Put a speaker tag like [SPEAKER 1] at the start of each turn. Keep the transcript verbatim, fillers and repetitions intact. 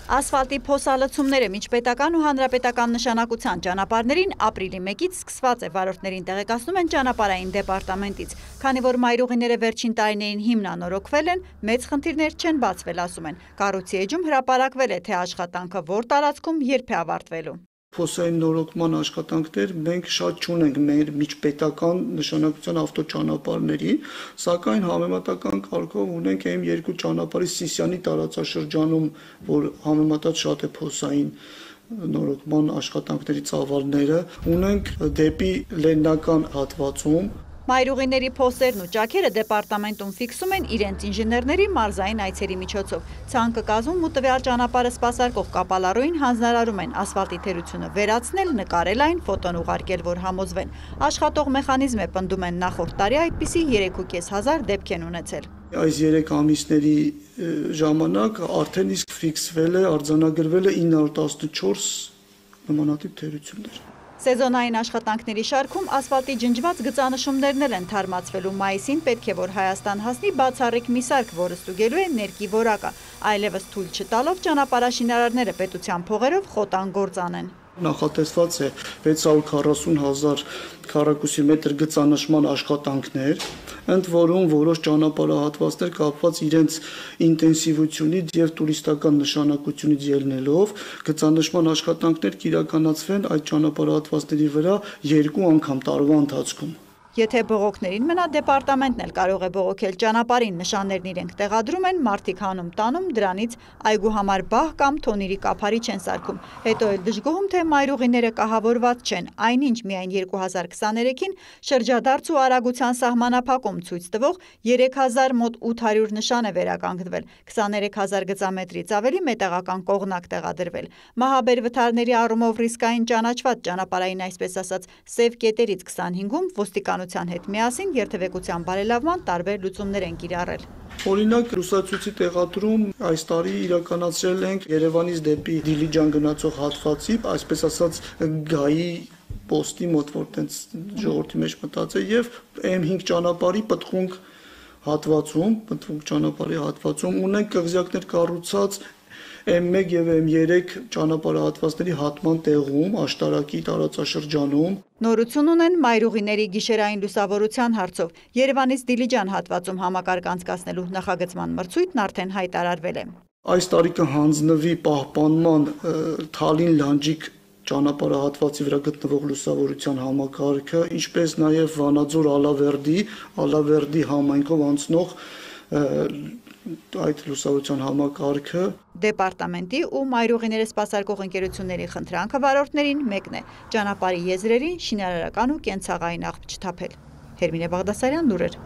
[SPEAKER 1] Ասֆալտի փոսալցումները միջպետական ու հանրապետական նշանակության ճանապարհներին ապրիլի մեկից սկսված է, վարորդներին տեղեկացնում են ճանապարհային դեպարտամենտից, քանի որ մայրուղիները վերջին տարիներին հիմնանորոգվել են, մեծ խնդիրներ չեն բացվել, ասում են։ Կառույցի էջում հրապարակվել է, թե աշխատանքը որ տարածքում երբ է ավարտվելու։
[SPEAKER 2] Փոսային նորոգման աշխատանքներ մենք շատ չունենք մեր միջպետական նշանակության ավտոճանապարհների, սակայն համեմատական կարգով ունենք այն երկու ճանապարհի Սիսիանի տարածաշրջանում, որ համեմատած շատ է փոսային նորոգման աշխատանքների ծավալները, ունենք դեպի Լեննական հատվածում։
[SPEAKER 1] Մայրուղիների փոսերն ու ճաքերը դեպարտամենտում ֆիքսում են իրենց ինժեներների մարզային այցերի միջոցով։ Ցանկը կազմում ու տվյալ ճանապարհը սպասարկող կապալառուին հանձնարարում են ասֆալտի թերությունը վերացնել, նկարել այն, ֆոտոն ուղարկել, որ համոզվեն։ Աշխատող մեխանիզմ է, պնդում են, նախորդ տարի այդպիսի երեք ու կես հազար դեպք են ունեցել։
[SPEAKER 2] Այս երեք ամիսների ժամանակ արդեն իսկ ֆիքսվել է, արձանագրվել է ինը հարյուր տասնչորս նմանատիպ թերություններ։
[SPEAKER 1] Սեզոնային աշխատանքների շարքում ասֆալտի ջնջված գծանշումներն են թարմացվելու, մայիսին պետք է որ Հայաստան հասնի բացառիկ մի սարք, որը ստուգելու է ներկի որակը, այլևս թույլ չտալով ճանապարհաշինարարները պետության փողերով խոտան գործ անեն։
[SPEAKER 2] Նախատեսված է վեց հարյուր քառասուն հազար քառակուսի մետր գծանշման աշխատանքներ, ընդ որում որոշ ճանապարհահատվածներ կապված իրենց ինտենսիվությունից եւ տուրիստական նշանակությունից ելնելով գծանշման աշխատանքներ կիրականացվեն այդ ճանապարհահատվածների վրա երկու անգամ տարվա ընթացքում։
[SPEAKER 1] Եթե բողոքներին մնա, դեպարտամենտն էլ կարող է բողոքել ճանապարհին, նշաններն իրենք տեղադրում են, մարդիկ հանում տանում, դրանից այգու համար բահ կամ թոնիրի կափարիչ են սարքում։ Հետո էլ դժգոհում, թե մայրուղիները կահավորված չեն, այնինչ միայն երկու հազար քսաներեքին շրջադարձ ու արագության սահմանափակում ցույց տվող երեք հազար մոտ ութ հարյուր նշան է վերականգնվել, քսաներեք հազար գծամետրից ավելի մետաղական կողնակ տեղադրվել։ Մահաբեր վթարների առումով ռիսկային ճանաչված ճանապարհային, այսպես ասած, սև կետերից քսանհինգում ոստիկանության հետ միասին երթևեկության բարելավման տարբեր լուծումներ են կիրառել։
[SPEAKER 2] Օրինակ լուսացույցի տեղադրում այս տարի իրականացրել ենք Երևանից դեպի Դիլիջան գնացող հատվածի, այսպես ասած գայի պոստի մոտ, որ տենց ժողովրդի մեջ մտած է, եւ էմ հինգ ճանապարհի պտղունք հատվածում, պտղունք ճանապարհի հատվածում ունենք կղզյակներ կառուցած էմ մեկ եւ էմ երեք ճանապարհահատվածների հատման տեղում, աշտարակի տարածաշրջանում։
[SPEAKER 1] Նորություն ունեն մայրուղիների գիշերային լուսավորության հարցով։ Երևանից Դիլիջան հատվածում համակարգ անցկացնելու նախագծման մրցույթն արդեն հայտարարվել է։
[SPEAKER 2] Այս տարի կհանձնվի պահպանման Թալին Լանջիկ ճանապարհահատվածի վրա գտնվող լուսավորության համակարգը, ինչպես նաև Վանաձոր Ալավերդի, Ալավերդի համայնքով անցնող այդ լուսավորության համակարգը։
[SPEAKER 1] Դեպարտամենտի ու մայրուղիները սպասարկող ընկերությունների խնդրանքը վարորդներին մեկն է՝ ճանապարհի եզրերին շինարարական ու կենցաղային աղբ չթափել։ Հերմինե Բաղդասարյան, լուրեր։